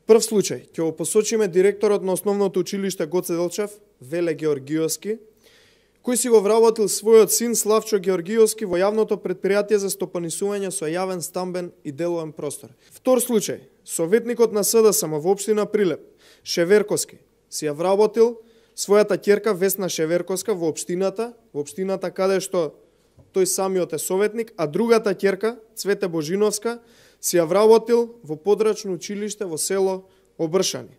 Прв случај, ќе го посочиме директорот на основното училиште Гоце Делчев, Веле Георгиевски, кој си го вработил својот син Славчо Георгиевски во јавното предпријатие за стопанисување со јавен стамбен и деловен простор. Втор случај, советникот на СДСМ во општина Прилеп, Шеверковски, си ја вработил својата ќерка Весна Шеверковска во општината каде што тој самиот е советник, а другата ќерка, Цвете Божиновска, си ја вработил во подрачно училиште во село Обршани.